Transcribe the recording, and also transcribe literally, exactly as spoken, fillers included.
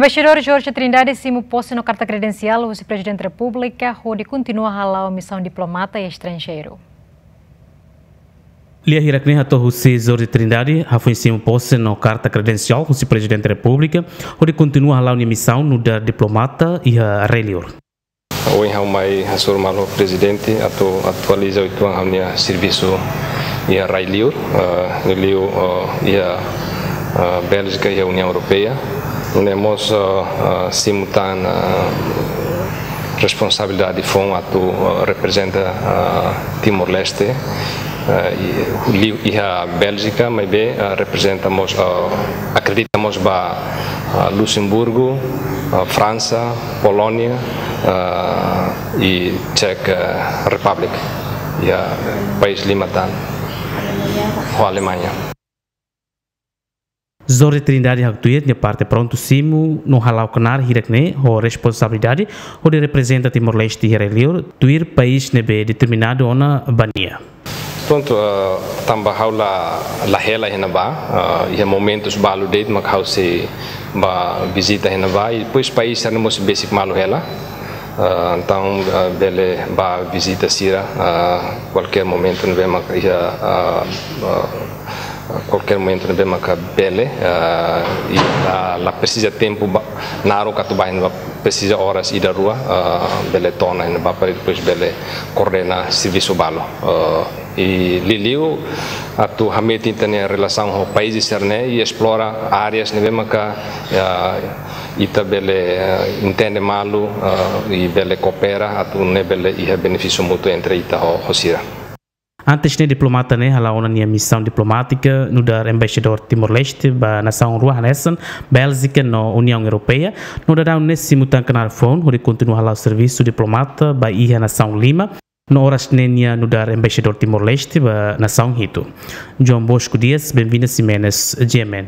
Embaixadór Jorge Trindade simu pose no karta kredensiál husi Prezidente Repúblika hodi kontinua hala'o misaun diplomata iha estranjeiru. Lia hirak ne'e hato'o husi Jorge Trindade hafoin simu pose no karta kredensiál husi Prezidente Repúblika hodi kontinua hala'o nia misaun nu'udar diplomata iha rai-liur. Ohin ha'u mai hasoru malu Prezidente atu atualiza uitoan ha'u-nia servisu iha rai-liur, eh, liuliu, eh, iha, eh, Bélgika, iha Uniaun Europeia. Nune'e mós, eh, eh, simu tan, eh, responsabilidade foun atu, eh, reprezenta, eh, Timor-Leste, eh, i, liu iha Bélgika, maibé, eh, reprezenta mós, eh, akredita mós ba, eh, Luxemburgo, eh, Fransa, Polónia, eh, i Czech, eh, Republic, iha país lima tan, ho Alemaña. Jorge Trindade haktuir nia parte prontu simu no hala'o knaar hirak ne'e ho responsabilidade hodi reprezenta Timor-Leste iha rai-liur, tuir país ne'ebé determinadu ona ba nia. Prontu, eh, tanba ha'u la, la hela iha ne'ebá, eh, iha momentus balu de'it mak ha'u sei bá vizita iha ne'ebá, i depois país sira-ne'e mós besik malu hela. Eh, entaun, eh, bele bá vizita sira, eh, kualkér momentu ne'ebé mak iha, eh, eh, kualkér momentu ne'ebé maka bele, eh, i la, la presiza tempu ba, naruk atu bá iha ne'ebá, presiza oras ida rua, eh, bele to'o ona iha ne'ebá para depois bele koordena servisu balu. Eh, i liuliu atu hametin ita-nia relasaun ho país sira-ne'e i esplora áreas ne'ebé maka, eh, ita bele, eh, entende malu, eh, i bele koopera atu nune'e bele iha benefísiu mútuu entre ita ho, ho sira. Antes ne'e diplomata ne'e hala'o ona nia misaun diplomátika nu'udar embaixadór Timor-Leste ba nasaun rua hanesan Bélgika no Uniaun Europeia. No daudaun ne'e simu tan knaar foun hodi kontinua hala'o servisu diplomata ba iha nasaun lima. No oras ne'e nia nu'udar embaixadór Timor-Leste ba nasaun hitu. João Bosco Dias, Benvinda Ximenes, G M N.